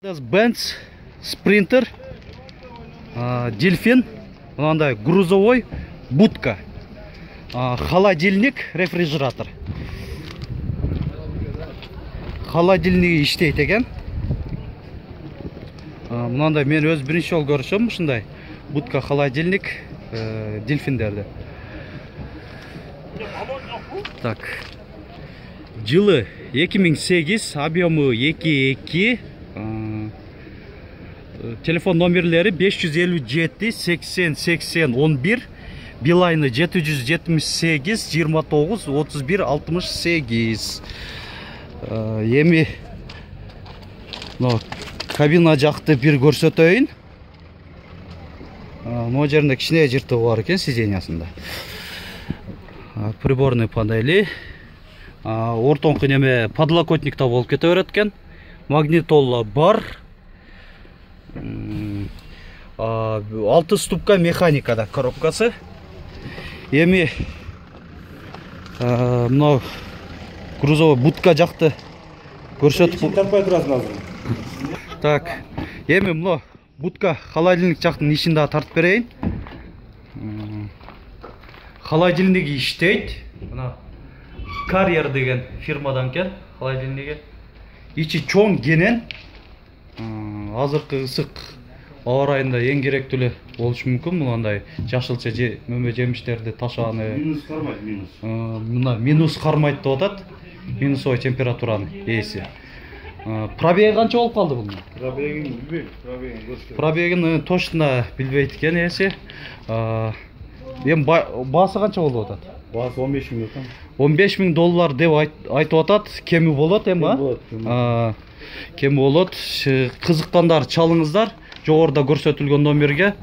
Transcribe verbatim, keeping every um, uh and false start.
Benz Sprinter, Дельфин, мынандай грузовой будка, холодильник, рефрижератор. Холодильниги иштейт экен. Мынандай мен өз биринчи жолу көрүшөм ушундай будка, холодильник дельфиндерди. Так. Жылы эки миң сегиз, объему эки эки, телефон номерлери беш жүз элүү жети сексен сексен он бир, билайны жети жүз жетимиш сегиз жыйырма тогуз отуз бир алтымыш сегиз. Эми но кабина жакты бир көрсөтөйүн. Могу жеринде кичине жыртыгы бар экен сиденьясында. Приборный панели. Ортоңку неме подлокотникта болуп кете берет экен. Магнитола бар. Алты ступка механикада коробкасы. Эми мына грузовой будка жакты көрсөтүп тарпай турасың азыр. Так, эми мына будка холодильник жактын ишин да тартып берейин. Холодильниги иштейт. Мына Carrier деген фирмадан кен холодильниги. Ичи чоң кенен. Азыркы ысык аба ырайында эң керектүү эле болушу мүмкүн. Мындай жашылча мөмө жемиштерди ташааны. Минус кармайт, минус. Мына минус кармайт деп атат. Минусовой температураны ээси. Пробеги канча болуп калды бунун? Пробегин билбейм, пробегин көрсөтөм. Пробегин точно билбейт экен ээси. Эми баасы канча болуп атат? Баасы он беш миң экен. он беш миң доллар деп айтып атат. Кеми болот эми, а? Кеми болот. Кызыккандар чалыңыздар. Жогоруда көрсөтүлгөн номерге.